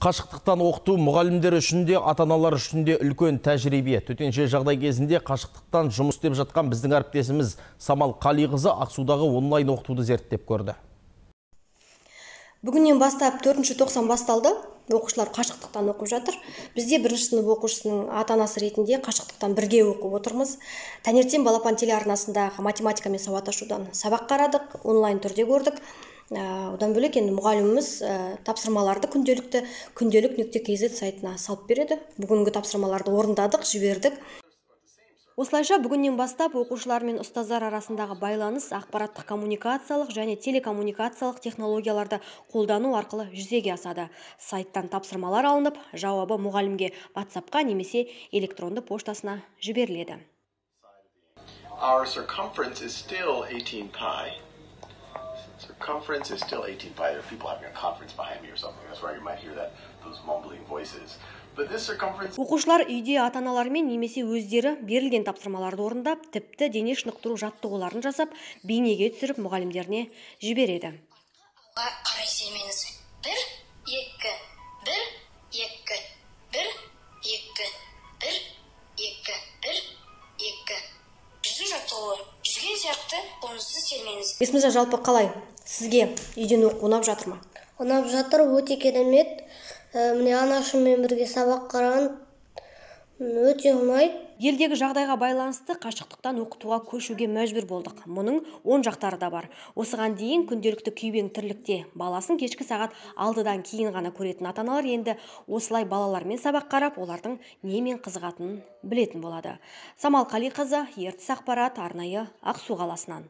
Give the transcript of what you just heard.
Қашықтықтан оқыту мұғалімдер үшін де, ата-аналар үшін де үлкен тәжірибе. Төтенше жағдай кезінде қашықтықтан жұмыс істеп жатқан біздің әріптесіміз Самал Қалиқызы Ақсудағы онлайн оқытуды зерттеп көрді. Бүгіннен бастап 4-ші тоқсан басталды. Оқушылар қашықтықтан оқып жатыр. Бізде бірінші сынып оқушысының ата-анасы ретінде қашықтықтан бірге оқып отырмыз. Таңертең балапан телеарнасындағы математика мен сауатташудан сабақ қарадық, онлайн түрде көрдік. Одан бөлек енді мұғаліміміз тапсырмаларды күнделік.kz сайтына салып береді. Бүгінгі тапсырмаларды орындадық, жібердік. Осылайша бүгіннен бастап оқушылар мен ұстаздар арасындағы байланыс ақпараттық коммуникациялық және телекоммуникациялық технологияларды қолдану арқылы жүзеге асады. Сайттан тапсырмалар алынып, жауабы мұғалімге WhatsApp-қа немесе электронды поштасына жіберіледі. Our circumference is still 18 pi. Circumference is still 18 pi. There are people having a conference behind me or something. That's why you might hear those mumbling voices. But this circumference... Оқушылар үйде ата-аналармен немесе өздері берілген тапсырмаларды орындап, тіпті дене шынықтыру жаттығуларын жасап, бейнеге түсіріп мұғалімдеріне жібереді. Қарай сермеңіз. 1, 2, 1, 2, 1, 2, 1, 2, 1, 2. Жүзу жаттығуы. Жүзген сияқты қолыңызды сермеңіз. Есміржан, жалпы қалай? Сізге үйден оқу ұнап жатыр ма? Ұнап жатыр, өте керемет. Міне анашыммен бірге сабақ қараған, өте ұнайды. Елдегі жағдайға байланысты қашықтықтан оқытуға көшуге мәжбүр болдық. Мұның оң жақтары да бар. Осыған дейін күнделікті күйбең тірлікте баласын кешкі сағат 6-дан кейін ғана көретін ата-аналар енді осылай балалармен сабақ қарап, олардың немен қызығатынын білетін болады. Самал Қалиқызы, Ертіс ақпарат, арнайы Ақсу қаласынан.